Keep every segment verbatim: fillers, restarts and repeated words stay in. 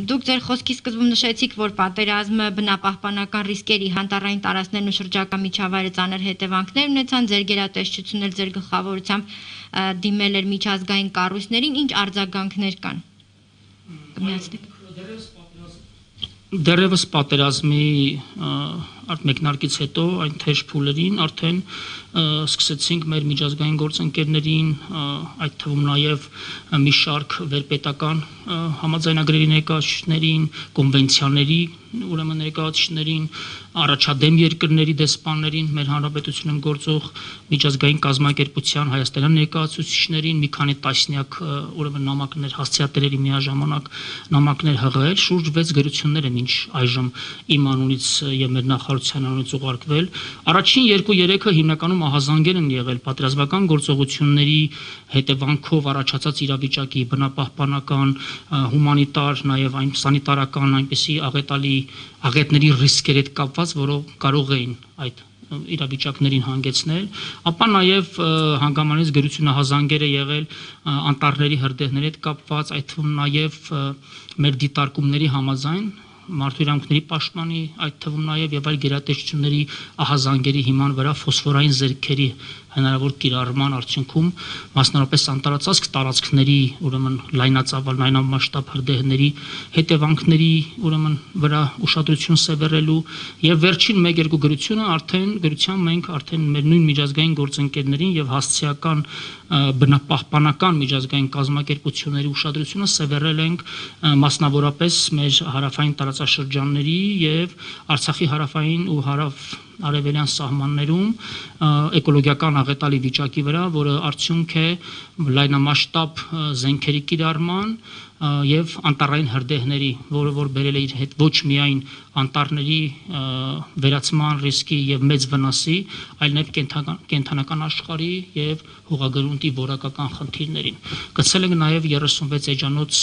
Դուք ձեր խոսքի սկզբում նշեցիք, որ պատերազմը բնապահպանական ռիսկերի, հանտառային տարածքներն ու շրջակա միջավայրը ծանր հետևանքներ ունեցան, ձեր գերատեսչությունն էլ ձեր գլխավորությամբ դիմել էր միջազգային կառույցներին, ինչ արձագանքներ կան։ Դեռևս պատերազմի մեկնարկից հետո այն թեժ փուլերին արդեն սկսեցինք մեր միջազգային գործընկերներին, այդ թվում նաև մի շարք վերպետական համաձայնագրերի ներկայացուցիչներին, կոնվենցիաների ուրեմն ներկայացուցիչներին, առաջադեմ երկրների դեսպաններին, մեր հանրապետությունում գործող միջազգային կազմակերպության հայաստանյան ներկայացուցիչներին, մի քանի տասնյակ ուրեմն նամակներ հասցեատերերի միաժամանակ նամակներ հղել, շուրջ վեց գրություններ են ինչ այժմ իմ անունից եւ մեր նախարարության անունից ուղարկվել։ Առաջին երկու-երեքը հիմնականում ահազանգեր են եղել պատերազմական գործողությունների հետևանքով առաջացած իրավիճակի բնապահպանական, հումանիտար, նաև այն սանիտարական այնպիսի աղետալի աղետների ռիսկերի հետ կապված, որով կարող էին այդ իրավիճակներին հանգեցնել, ապա նաև հանգամանից գրությունահազանգեր է եղել անտառների հրդեհների հետ կապված, այդ թվում նաև մեր դիտարկումների համաձայն մարդու իրավունքների պաշտպանի, այդ թվում նաև եւ այլ գերատեսչությունների ահազանգերի հիման վրա ֆոսֆորային զերքերի հնարավոր կիրառման արդյունքում մասնավորապես անտարածածկ տարածքների ուրեմն լայնածավալ լայնամասշտաբ հրդեհների հետևանքների ուրեմն վրա ուշադրություն սևեռելու եւ վերջին մեկ-երկու գրությունը արդեն գրության մենք արդեն մեր նույն միջազգային գործընկերներին եւ հասցեական բնապահպանական միջազգային կազմակերպությունների ուշադրությունը սևեռել ենք մասնավորապես մեր հարավային տարածաշրջանների եւ Արցախի հարավային ու հարավ արևելյան սահմաններում էկոլոգիական աղետալի վիճակի վրա, որը արդյունք է լայնամասշտաբ զենքերի կիրառման եւ անտառային հրդեհների, որը որ բերել է իր հետ ոչ միայն անտառների վերացման ռիսկի եւ մեծ վնասի, այլ նաեւ կենթանական աշխարհի եւ հողագրունտի որակական խնդիրներին։ Գցել ենք նաեւ երեսունվեց էջանոց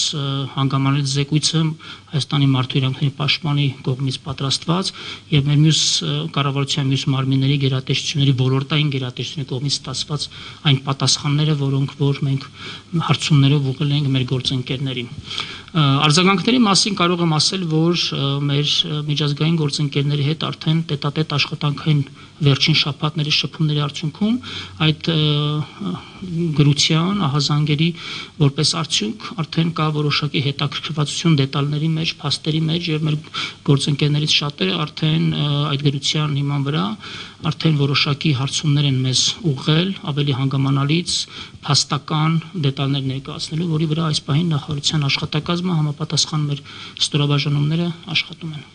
հանգամանալից զեկույցը Հայաստանի մարդու իրավունքների պաշտպանի կողմից պատրաստված եւ մեր մյուս կառավարության մյուս մարմինների գերատեսչությունների ոլորտային գերատեսչությունների կողմից ստացված այն պատասխանները, որոնք որ մենք հարցումներով ուղղել ենք մեր գործընկերներին։ Արձագանքների մասին կարող եմ ասել, որ մեր միջազգային գործընկերների հետ արդեն տետատետ աշխատանքային վերջին շաբաթների շփումների արդյունքում այդ գրության ահազանգերի որպես արդյունք արդեն կա որոշակի հետաքրքրվածություն դետալների մեջ, փաստերի մեջ եւ մեր գործընկերներից շատերը արդեն այդ գրության հիման վրա արդեն որոշակի հարցումներ են մեզ ուղղել ավելի հանգամանալից փաստական դետալներ ներկայացնելու, որի վրա այս պահին նախարարության աշխատակազմը համապատասխան մեր ստորաբաժանումները աշխատում են։